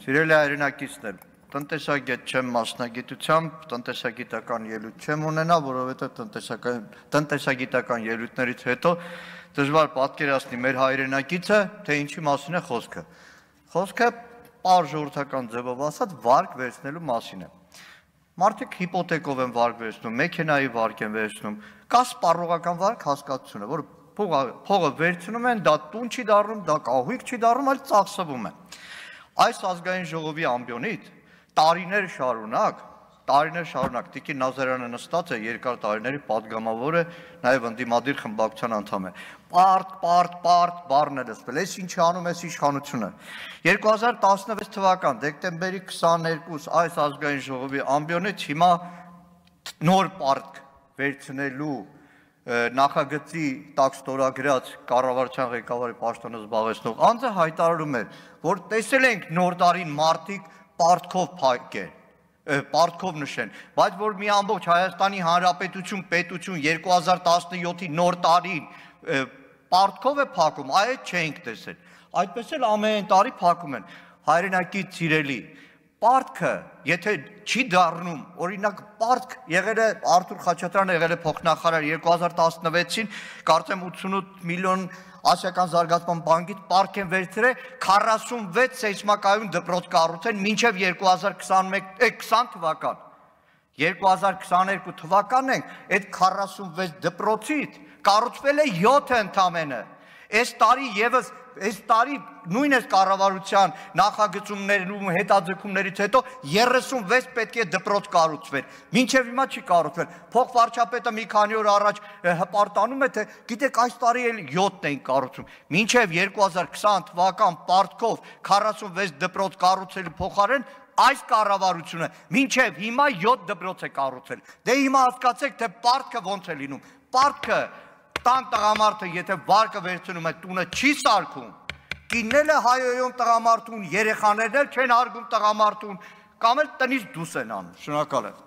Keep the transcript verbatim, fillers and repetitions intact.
Սիրելի հայրենակիցներ, տնտեսագետ չեմ մասնագիտությամբ, տնտեսագիտական ելույթ չեմ ունենա, որովհետև տնտեսագիտական ելույթներից հետո դժվար պատկերացնի մեր հայրենակիցը, թե ինչի մասին է խոսքը։ Խոսքը պարզ ժողովրդական ձևով ասած վարկ վերցնելու մասին է։ Մարդիկ հիպոթեկով են վարկ վերցնում, մեքենայի վարկ են վերցնում, կա սպառողական վարկ հասկացությունը, որ փողը վերցնում են, դա տուն չի դառնում, դա կահույք չի դառնում, այլ ծախսվում է։ Այս ազգային ժողովի ամբիոնից տարիներ շարունակ, տարիներ շարունակ Տիկին Նազարյանը նստած է երկար տարիների պատգամավոր է, նաև ընդդիմադիր խմբակցության անդամ է։ Պարտ, պարտ, պարտ բառն է լսվել, այս ինչի անում էս իշխանությունը։ երկու հազար տասնվեց թվական դեկտեմբերի քսաներկուս այս ազգային ժողովի ամբիոնից հիմա նոր պարկ վերցնելու նախագծի տակ ստորագրած կառավարության ղեկավարի պաշտոնը զբաղեցնող անձը հայտարարում էր, որ տեսել ենք նոր տարին մարդիկ պարտքով փակեն, պարտքով նշեն, բայց որ մի ամբողջ Հայաստանի Հանրապետություն, պետություն երկու հազար տասնյոթի նոր տարին պարտքով է փակում, այդ չենք տեսել։ Այդպես էլ ամեն տարի փակում են։ Հայրենակից սիրելի, պարտքը, եթե չի դառնում, օրինակ պարտք եղել է Արթուր Խաչատրյանը եղել է փոխնախարար երկու հազար տասնվեցին, կարծեմ ութսունութ միլիոն Ասիական զարգացման բանկից պարտք են վերցրել քառասունվեց սեյսմակայուն դպրոց կառուցեն մինչև երկու հազար քսան թվական։ երկու հազար քսաներկու թվականն ենք, այդ քառասունվեց դպրոցից կառուցվել է յոթ ընդամենը։ Այս տարի եւս այս տարի նույն այս կառավարության նախագծումներում հետաձգումներից հետո երեսունվեց պետք է դպրոց կառուցվեր։ Մինչև հիմա չի կառուցվել։ Փոխվարչապետը մի քանի օր առաջ հպարտանում է, թե գիտեք այս տարի էլ յոթն են կառուցում։ Մինչև երկու հազար քսան թվական պարտքով քառասունվեց դպրոց կառուցելու փոխարեն այս կառավարությունը մինչև հիմա յոթ դպրոց է կառուցել։ Դե հիմա հասկացեք, թե պարտքը ոնց է լինում։ Պարտքը տան տղամարդը եթե վարկը վերցնում է տունը չի սարքում, կինն է հայոյում տղամարդուն, երեխաներն էլ չեն հարգում տղամարդուն, կամ էլ տնից դուրս են անում։ Շնորհակալ եմ։